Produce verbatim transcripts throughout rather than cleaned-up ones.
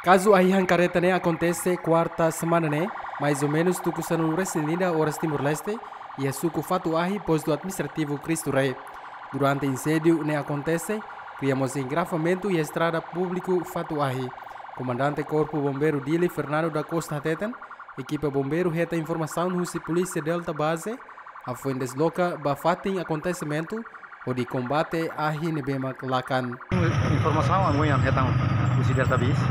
Kazu ahi-han kareta ne'e akontese kuarta semana ne'e, mais ou menus tuku sanulu-resin-ida oras Timor-Leste, iha suku Fatu Ahi, postu administrativu Cristo Rei. Durante inséndiu ne'e akontese, kria mós engarrafamentu iha estrada públiku Fatu Ahi. Komandante Korpu Bombeiru Dili, Fernando da Costa hateten, ekipa bombeiru hetan informasaun husi Polísia Delta Base, hafoin desloka ba fatin akontesimentu, hodi kombate ahi ne'ebé mak lakan. Informasaun ami hetan husi Delta Base.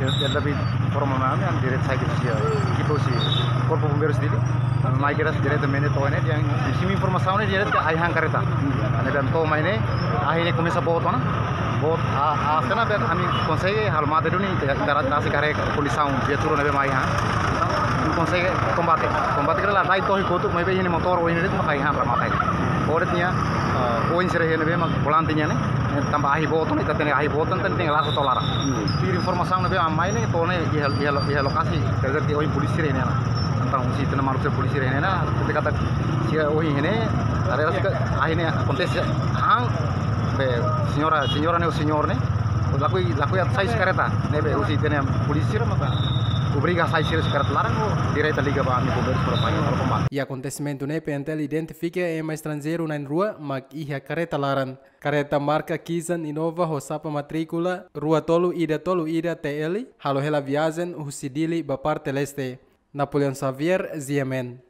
Del-, Delta Base informa mai ami, ami direta sai husi, eh, ekipa husi Korpu Bombeiru Dili. Ami mai direta, diretamente to'o ne'e, dehan husi informasaun ne'e direta ahi-han kareta. Ne'ebé ami to'o mai ne'e, ahi ne'e komesa boot ona. Boot, a, a, até ne'ebé ami konsege halo mate duni, iha, iha, iha, iha, iha kondisaun viatura ne'ebé mak ahi-han. Ami konsege kombate. Kombate kala la dai tohi kotuk, maibé iha ne'e motór ohin de'it mak ahi-han para matai. Ohin de'it nia, eh, oin sira iha ne'ebé mak volante nian ne'e, eh, tanba ahi boot ona, ita hatene ahi boot ona, ita hatene laran to'o laran. Hmm. Tuir informasaun ne'ebé ami mai ne'e, to'o ne'e iha, iha, iha lokasi, terjadi ohin polísia iha ne'e. Entaun, husi ita-nia maluk sira polísia iha ne'e, ita katak sira ohin iha ne'e, area sira ahi ne'e akontese han, be, señora, señora ne'e, señór ne'e, lakohi, lakohi atu sai husi kareta, ne'ebé husi ita-nia polísia maka obriga sai sira husi kareta laran, direta liga ba ami bombeiru para mai, para kombate. Iha akontesimentu ne'e, P N T L identifika ema estranjeiru na'in-rua mak iha kareta laran. Kareta marka Kizan Innova ho xapa matríkula rua tolu ida tolu ida T L, halo hela viajen husi Dili ba parte leste. Napoleão Xavier, G M N.